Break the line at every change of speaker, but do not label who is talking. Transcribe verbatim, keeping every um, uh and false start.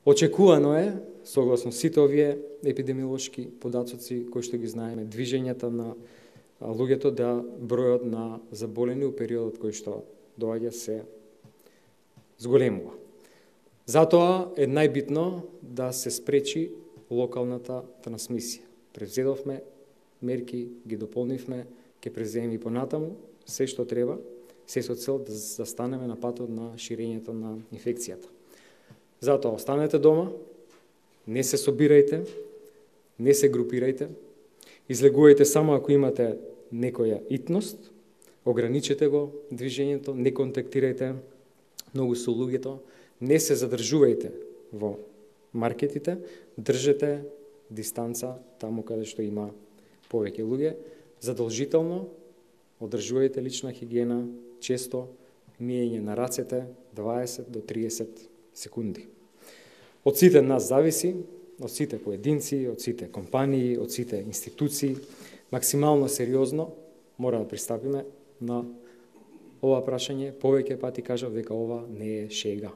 Очекувано е, согласно сите овие епидемиолошки податоци кои што ги знаеме, движењата на луѓето да бројот на заболени у периодот кој што доаѓа се зголемува. Затоа е најбитно да се спречи локалната трансмисија. Превзедовме мерки, ги дополнивме, ќе превземеме и понатаму се што треба, се со цел да застанеме на патот на ширењето на инфекцијата. Затоа останете дома, не се собирајте, не се групирајте, излегувајте само ако имате некоја итност, ограничете го движењето, не контактирајте многу со луѓето, не се задржувајте во маркетите, држете дистанца таму каде што има повеќе луѓе, задолжително одржувајте лична хигиена, често миење на рацете дваесет до триесет секунди. Од сите нас зависи, од сите поединци, од сите компании, од сите институции, максимално сериозно мора да пристапиме на ова прашање. Повеќе пати кажав дека ова не е шега.